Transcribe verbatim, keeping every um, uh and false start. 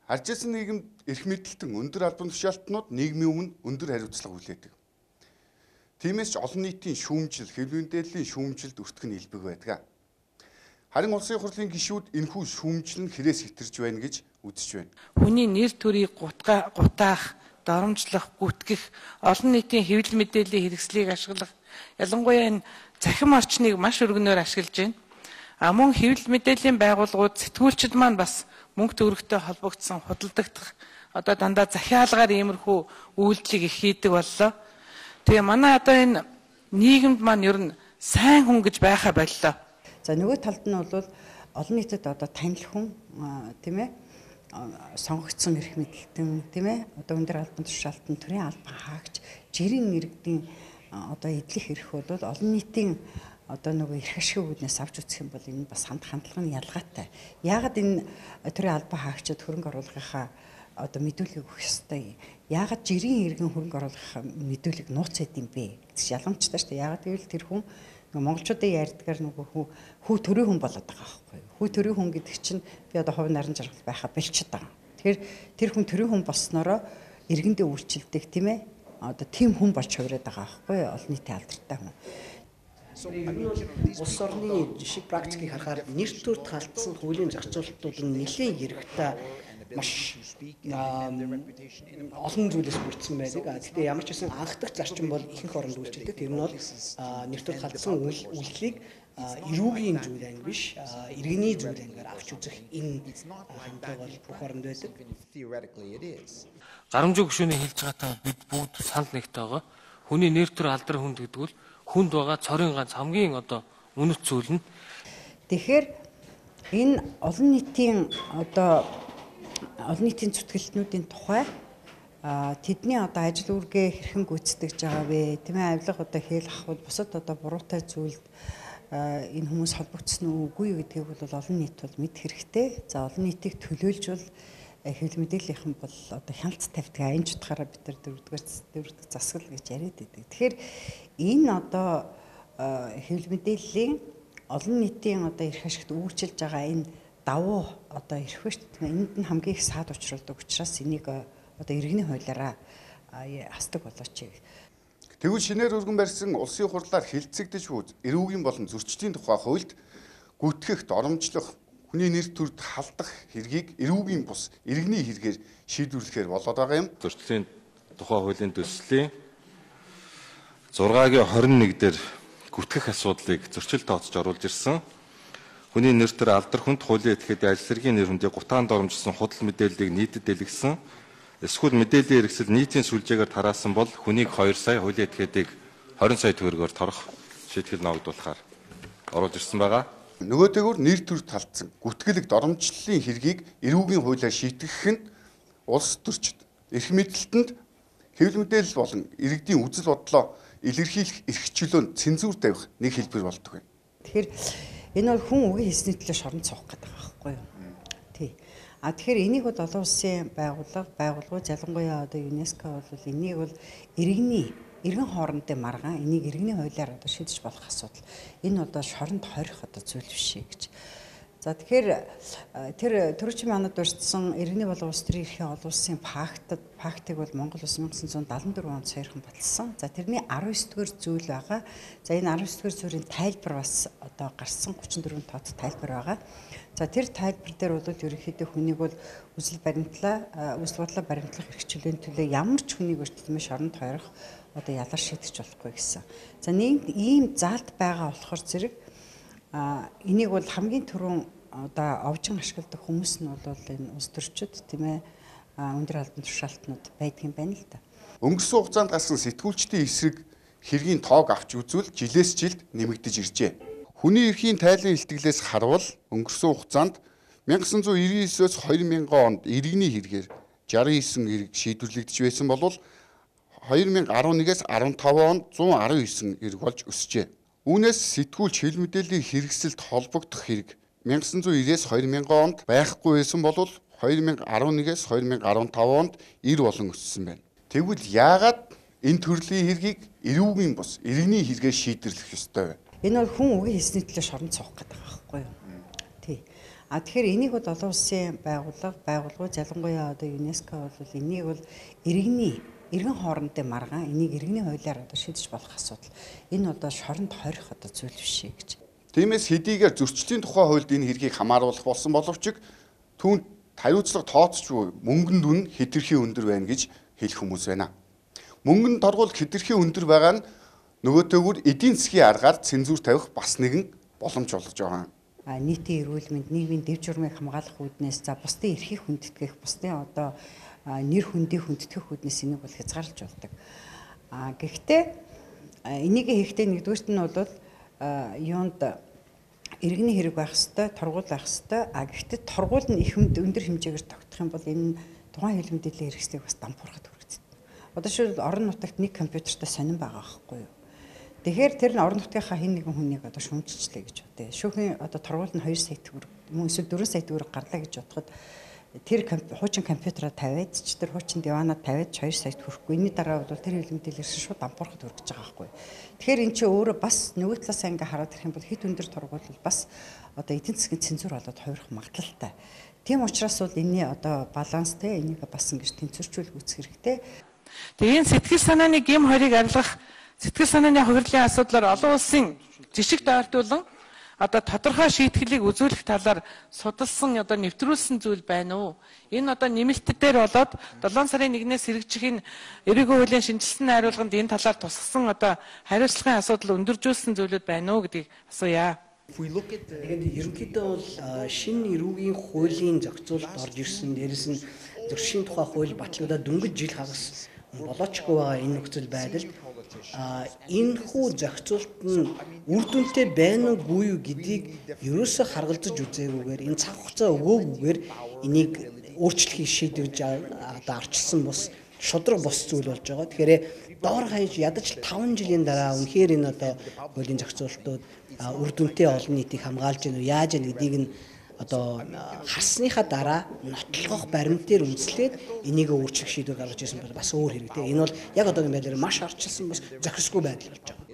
Харжсэн нийгэмд эрх мэдэлтэн өндөр албан тушаалтнууд нийгмийн өмнө өндөр хариуцлага хүлээдэг. Тиймээс ч олон нийтийн шүүмжил, хэвлэл мэдээллийн шүүмжилд өртөх нь илбэг байдаг. Харин улсын хурлын гишүүд энэхүү шүүмжил нь хэрээс хэтэрж байна гэж үзэж байна. Хүний нэр төрийг гутгаа гутаах, доромжлох, гүтгэх, олон нийтийн хэвлэл мэдээллийн хэрэгслийг ашиглах, ялангуяа энэ цахим орчныг маш өргөнөөр ашиглаж байна. А мөн хэвлэл мэдээллийн байгууллагууд сэтгүүлчид маань бас мөнгө төгрөгтэй холбогдсон худалдагдах одоо дандаа захиалгаар иймэрхүү үйлдэлийг их хийдэг боллоо. Тэгээ манай одоо энэ нийгэмд маань ер нь сайн хүн гэж байхаа боллоо. За нөгөө талд нь бол олон нийтэд одоо танил хүн тийм ээ сонгогдсон эрх мэдэлтэн тийм ээ одоо өндөр албан тушаалтан төрийн албан хаагч жирийн иргэдийн одоо эдлэх эрх бол олон нийтийн одоо нөгөө эрх ашиг үүднээс авч үзэх юм бол энэ бас хамт хандлага нь ялгаатай. Яагаад энэ төрийн албан хаагчид хөрөнгө оруулахынхаа одоо мэдүүлгийг өгөх ёстой. Яагаад жирийн иргэн хөрөнгө оруулахынхаа мэдүүлгийг нууцад юм бэ? Гэж ялгамжтай шүү дээ. Яагаад гэвэл тэр хүн монголчуудын ярьдгаар нөгөө хүү хүү төрийн хүн болоод байгаа байхгүй юу? Хүү төрийн хүн гэдэг чинь би одоо хувь нарийн жаргал байхаа бэлчихэд байгаа. Тэгэхээр тэр хүн төрийн хүн болсноороо иргэндээ үйлчлдэг тийм ээ. Одоо тийм хүн болж хувираад байгаа байхгүй юу? Олон нийтийн алдартай хүн. Улс орны жишг практикийг харахаар нэр төрд халтсан хуулийн зарцуулалтууд нь нэлийн хэрэгтээ маш олон зүйлээс бүрдсэн байдаг. Гэхдээ ямар ч гэсэн анх дахь зарчим бол ихэнх оронд үйлчилдэг. Тэр нь бол нэр төрд халтсан үйлчлэлийг эрүүгийн зүйл анги биш, иргэний зүйл ангиар авч үзэх энэ хандлага бол бүх оронд байдаг. Гарамжийн гүшүүний хэлж байгаатай бид бүгд санал нэгтэй байгаа. Хүний нэр төр алдар хүнд гэдэг бол хүнд байгаа цорын ганц хамгийн одоо үнэт зүйл нь. Тэгэхээр энэ олон нийтийн одоо олон нийтийн зүтгэлтнүүдийн тухай тэдний одоо ажил үүргээ хэрхэн гүйцэтгэж байгаа вэ? Тийм ээ авилга одоо хэл ахуйд бусад одоо буруутай зүйлд энэ хүмүүс холбогдсон үгүй юу гэдгийг бол олон нийт бол мэд хэрэгтэй. За олон нийтийг төлөөлжвол хэвлэл мэдээллийнхэн бол одоо хяналт тавьдаг аян чутгаараа бид нар дөрөвдүгээр дөрөвдүгээр засал гэж яриад байдаг. Тэгэхээр энэ одоо хэвлэл мэдээллийн олон нийтийн одоо эрх ашигт үйлчилж байгаа энэ давуу одоо эрх биш тийм энд нь хамгийн их саад учруулдаг учраас энийг одоо иргэний хуулиараа хасдаг болооч. Тэгвэл шинээр өргөн барьсан улсын хурлаар хилцэгдэж буй эрүүгийн болон зөрчлийн тухай хуульд гүтгэх, доромжлох, хүний нэр төрд халдах хэргийг эрүүгийн бус иргэний хэрэгээр шийдвэрлэхээр болоод байгаа юм. Зөрчлийн тухай хуулийн төслийн зургагийн хорин нэг дээр гүтгэх асуудлыг зөрчил тооцож оруулж ирсэн. Хүний нэр төр алдар хүнд хуулийн этгээдийн ажил хэргийн нэр хүндийг гутаан доромжсон худал мэдээллийг нийтэд дэлгэсэн. Эсвэл мэдээллийн хэрэгсэл нийтийн сүлжээгээр тараасан бол хүнийг хоёр сая, хуулийн этгээдийг хорин сая төгрөгөөр торох шийтгэл ногдуулахаар оруулж ирсэн байгаа. Нөгөөтэйгүр нэр төр талцсан гүтгэлэг доромжлолын хэргийг эрүүгийн хуулиар шийтгэх нь улс төрчид эрх мэдэлтэнд хэвлэл мэдээлэл болон иргэдийн үзэл бодлоо илэрхийлэх эрх чөлөөнд цензуур тавих нэг хэлбэр болдог байна. Тэгэхээр энэ бол хүн үгийн хэлсний төлөө шоронд суух гэдэг байгаа байхгүй юу? Тий. А тэгэхээр энийг бол олон улсын байгууллага, байгууллагууд ялангуяа одоо ЮНЕСКО бол энийг бол иргэний иргэн хоорондын маргаан энийг иргэний хуулиар одоо шийдэж болох асуудал. Энэ одоо шоронд хорих одоо зүйл биш гэж. За тэгэхээр тэр төрөчийн манад дурдсан иргэний болон улс төрийн эрхийн олон улсын пактад пактыг бол Монгол улс мянга санаа зуун далаван дөрвөн онд сойрхон баталсан. За тэрний арван ёс дугаар зүйл байгаа. За энэ арван ёс дугаар зүйлийн тайлбар бас одоо гарсан гучин дөрвөн тоод тайлбар байгаа. За тэр тайлбар дээр бол ерөнхийдөө хүнийг бол үзэл баримтлаа, үзэл бодлоо баримтлах эрх чөлөөний төлөө ямар ч хүнийг өртөлмөш шоронд хорих одоо ялар шийдэж болохгүй гэсэн. За нэг ийм заалт байгаа болохоор зэрэг а энийг бол хамгийн түрүүн одоо овжин ашигладаг хүмүүс нь бол энэ улс төрчид тийм ээ өндөр албан тушаалтнууд байдаг юм байна л да. Өнгөрсөн хугацаанд гарсан сэтгүүлчдийн эсрэг хэргийн тоог авч үзвэл жилээс жилд нэмэгдэж иржээ. Хүний эрхийн тайлан илтгэлээс харвал өнгөрсөн хугацаанд мянга санаа зуун иргэн девятөөс хоёр мянган онд иргэний хэрэгээр шестьдесят девять эрэг шийдвэрлэгдэж байсан бол хоёр мянга арван нэгээс арван таван онд зуун арван девять эрэг болж өсжээ. Үүнээс сэтгүүлч хэвлэл мэдээллийн хэрэгсэлд холбогдох хэрэг мянга санаа зуун девятээс хоёр мянган онд байхгүй байсан бол хоёр мянга арван нэгээс хоёр мянга арван таван онд ир болон өссөн байна. Тэгвэл яагаад энэ төрлийн хэргийг эрүүгийн бус иргэний хэрэгээр шийдвэрлэх ёстой вэ? Энэ бол хүн үгийн хэлсний төлөө шоронд суух гэдэг байгаа байхгүй юу? Тий. А тэгэхээр энийг бол олон улсын байгууллага, байгууллагууд ялангуяа одоо ЮНЕСКО бол энийг бол иргэний иргэн хоорондын маргаан энийг иргэний хуулиар одоо шийдэж болох асуудал. Энэ одоо шоронд хорих одоо зүйл биш гэж. Тиймээс хэдийгээр зөрчлийн тухай хуульд энэ хэргийг хамааруулах болсон боловч түүнд хариуцлага тооцож буй мөнгөнд үн хэтэрхий өндөр байна гэж хэлэх хүмүүс байна. Мөнгөнд торгуул хэтэрхий өндөр байгаа нь нөгөөтэйгүр эдийн засгийн аргаар цензуур тавих бас нэгэн боломж болгож байгаа. А нийтийн эрүүл мэнд, нийгмийн дэв журмыг хамгаалах үүднээс за бусдын эрхийг хүндэтгэх, бусдын одоо нэр хүндийг хүндэтгэх үүднээс энийг бол хязгаарлаж болдог. А гэхдээ энийг хийхдээ нэгдүгürt нь бол юунд иргэний хэрэг байх хэвээр, торгуул байх хэвээр. А гэхдээ торгуул нь их өндөр хэмжээгээр тогтох юм бол энэ тухайн хэвлэл мэдээллийн хэрэгслийг бас дампуурахад хүргэдэг. Одоо шил орон нутагт нэг компьютертай сонирн байгаа байхгүй юу? Тэгэхээр тэр нь орон нутгийнхаа хэн нэгэн хүнийг одоо шүүмжилчлээ гэж бодъё. Шүүхийн одоо торгуул нь хоёр сая төгрөг, мөн эсвэл дөрвөн сая төгрөг гарлаа гэж бодоход тэр хуучин компьютераа тавиад ч тэр хуучин диванаа тавиад хоёр сая төгрөхгүй. Энийн дараа бол тэр хэвлэл мэдээлэл шууд дампуурахад хүргэж байгаа байхгүй юу? Тэгэхээр эн чинь өөрөө бас нөгөө талаас ингээ хараад ирэх юм бол хэд өндөр торгуул бол бас одоо эдийн засгийн цензуур болоод хувирах магадлалтай. Тийм учраас бол энэний одоо баланстэй энийг бас ингэж тэнцвэржүүлэх үүсэх хэрэгтэй. Тэгээ энэ сэтгэл санааны гим хорийг арилгах сэтгэл санааны хувирлын асуудлаар олон улсын жишг дайртуулан одоо тодорхой шийтгэлийг үзүүлэх талаар судалсан одоо нэвтрүүлсэн зүйл байна уу? Энэ одоо нэмэлт дээр болоод долоон сарын нэгнээс хэрэгжих энэ эрүүгийн хуулийн шинжилсэн найруулганд энэ талаар тусгасан одоо хариуцлагын асуудал өндөржүүлсэн зүйлүүд байна уу гэдгийг асууя. Тэгээд ерөнхийдөө бол шинэ эрүүгийн хуулийн зохицуулалт орж ирсэн, дээрэс нь зөрчлийн тухай хууль батлагдаад дөнгөж жил хагас болоочгүй байгаа энэ нөхцөл байдалд энэ хүү зохицуулалт нь үр дүнтэй байна уугүй юу гэдгийг ерөөсө харгалзаж үзээгүйгээр энэ цаг хугацаа өгөөгүйгээр энийг өөрчлөхийг шийдвэрж одоо арчилсан бус шудраг бос зүйл болж байгаа. Тэгэхээр доор хаяж ядаж таван жилийн дараа үнэхээр энэ одоо хуулийн зохицуулалтууд үр дүнтэй олон нийтийг хамгаалж гэнэ үү яаж гэнэ гэдгийг нь одоо харсныхаа дараа нотлох баримтээр үндэслээд энийг өөрчлөх шийдвэр гаргаж ирсэн бол бас өөр хэрэгтэй. Энэ бол яг одоогийн байдлаар маш арчилсан бас зохисгүй байдал болж байгаа.